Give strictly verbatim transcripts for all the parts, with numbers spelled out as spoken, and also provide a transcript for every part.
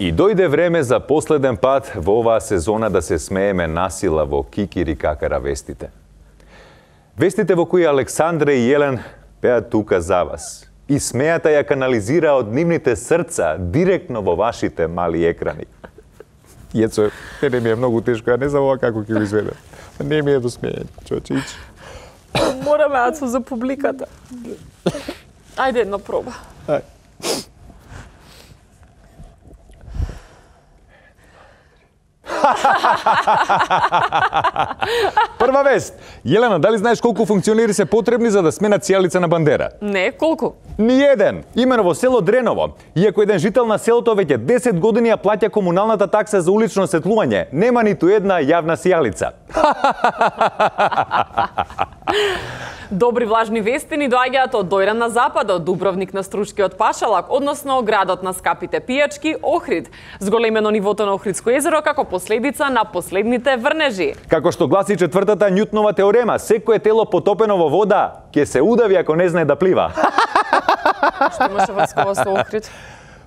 И дојде време за последен пат во оваа сезона да се смееме насила во Кикири Какара вестите. Вестите во кои Александра и Јелен беа тука за вас. И смејата ја канализира од нивните срца директно во вашите мали екрани. Јецо, не ми е многу тешко, ја не знам ова како ќе го изведам. Не ми е до смејање, човече, ич. Мораме, Ацо, за публиката. Ајде една проба. Ај. Прва вест. Јелена, дали знаеш колку функционери се потребни за да сменат сијалица на бандера? Не, колку? Ни еден. Имено во село Дреново. Иако еден жител на селото веќе десет години ја плаќа комуналната такса за улично осветлување, нема ниту една јавна сијалица. Добри влажни вести ни доаѓаат од Дојран на запад, од Дубровник на Струшкиот пашалак, односно градот на скапите пијачки Охрид. Зголемено нивото на Охридско езеро како последица на последните врнежи. Како што гласи четвртата Њутнова теорема, секое тело потопено во вода ќе се удави ако не знае да плива. Што имаше врскова со Охрид?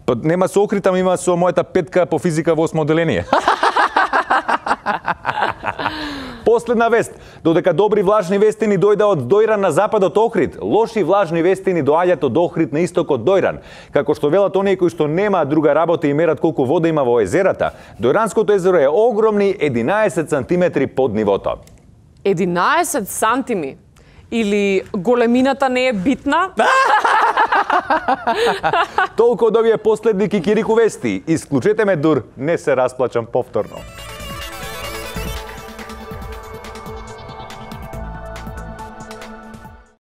Па нема со Охрид, ама има со мојата петка по физика во осмо оделение. Последна вест. Додека добри влажни вести ни дојда од Дојран на запад од Охрид, лоши влажни вести ни доаѓаат од Охрид на исток од Дојран. Како што велат оние кои што немаат друга работа и мерат колку вода има во езерата, Дојранското езеро е огромни единаесет сантиметри под нивото. единаесет сантими? Или големината не е битна? Толку од овие последни кикирику вести. Исклучете ме дур, не се расплачам повторно.